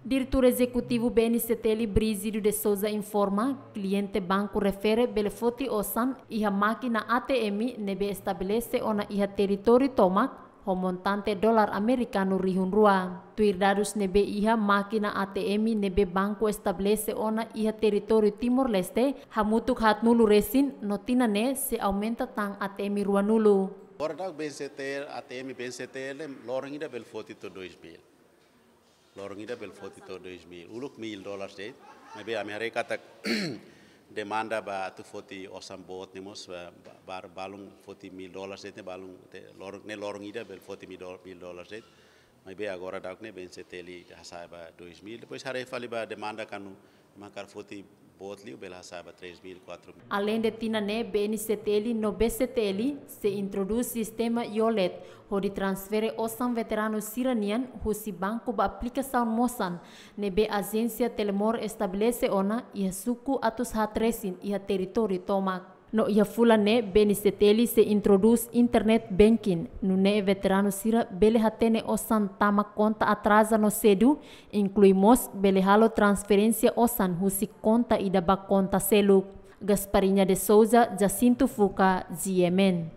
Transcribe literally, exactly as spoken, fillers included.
Diretór Ezekutivu B N C T L, Brígido de Sousa, informa, kliente banku refere bele foti osan iha mákina A T M ne'ebé estabelese ona iha territóriu tomak, ho montante dolar amerikanu rihun rua. Tuir dadus ne'ebé iha, mákina A T M ne'ebé banku estabelese ona iha territóriu Timor-Leste hamutuk haatnulu resin, no tinan ne'e sei aumenta tan A T M ruanulu. Agora daudaun B N C T L, A T M B N C T L, loron ida bele foti to'o dois mil. Loron ida bele foti to'o dois mil. Uluk mil dólares de'it. Maibé ami haree katak demanda ba atu foti osan boot ne'e mós ba, ba, ba, balun foti mil dólares de'it, ne'e balun te, loron, ne'e loron ida bele foti mil dó-, mil dólares de'it. Maibé agora daudaun ne'e B N C T L hasa'e ba dois mil. Depois haree fali ba demanda kuandu ema hakarak foti boot liu bele hasa'e ba três mil, quatro mil. Aleinde tinan ne'e, B N C T L no B C T L sei introdús sistema e-wallet, hodi transfere osan veteranu sira-nian husi banku ba aplikasaun mosan ne'ebé ajénsia Telemor estabelese ona iha suku atus haat resin iha territóriu tomak. No iha fulan ne'e, B N C T L sei introdús internet banking, nune'e veteranu sira bele hatene osan tama konta atraza no sedu, inklui mós bele halo transferénsia osan husi konta ida ba konta seluk. Gasparinha de Sousa, Jacinto Fuca, G M N.